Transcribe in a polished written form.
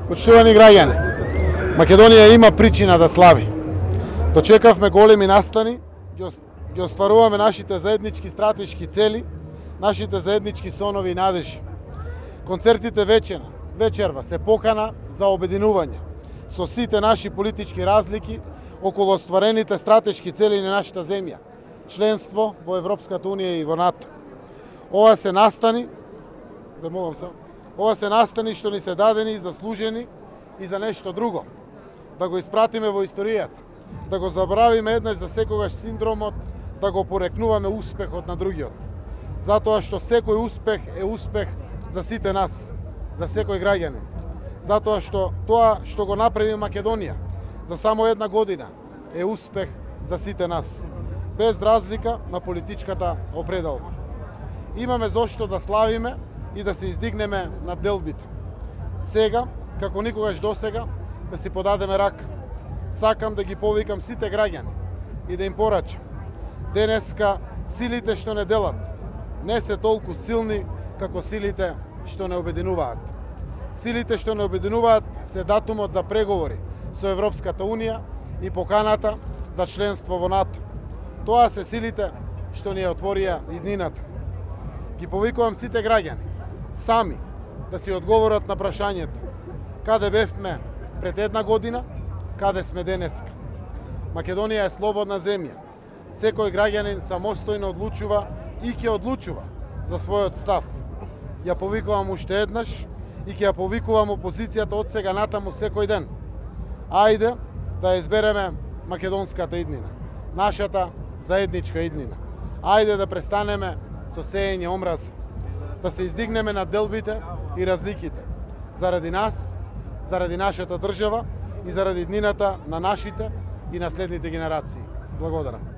Почитувани граѓани, Македонија има причина да слави. Дочекавме големи настани, ги остваруваме нашите заеднички стратешки цели, нашите заеднички сонови и надежи. Концертите вечерва се покана за обединување со сите наши политички разлики околу остварените стратешки цели на нашата земја, членство во Европската Унија и во НАТО. Ова се настани што ни се дадени и заслужени и за нешто друго. Да го испратиме во историјата, да го забравиме еднаш за секогаш синдромот, да го порекнуваме успехот на другиот. Затоа што секој успех е успех за сите нас, за секој граѓанин. Затоа што тоа што го направи Македонија за само една година е успех за сите нас, без разлика на политичката определба. Имаме зошто да славиме и да се издигнеме над делбите. Сега, како никогаш досега, да си подадеме рака. Сакам да ги повикам сите граѓани и да им порачам. Денеска силите што не делат не се толку силни како силите што не обединуваат. Силите што не обединуваат се датумот за преговори со Европската Унија и поканата за членство во НАТО. Тоа се силите што ни ја отворија иднината. Ги повикувам сите граѓани сами да си одговорат на прашањето каде бевме пред една година, каде сме денеска. Македонија е слободна земја. Секој граѓанин самостојно одлучува и ќе одлучува за својот став. Ја повикувам уште еднаш и ќе ја повикувам опозицијата од сега натаму секој ден. Ајде да избереме македонската иднина, нашата заедничка иднина. Ајде да престанеме со сеење омраз, да се издигнеме над делбите и разликите. Заради нас, заради нашата држава и заради иднината на нашите и наследните генерации. Благодарам.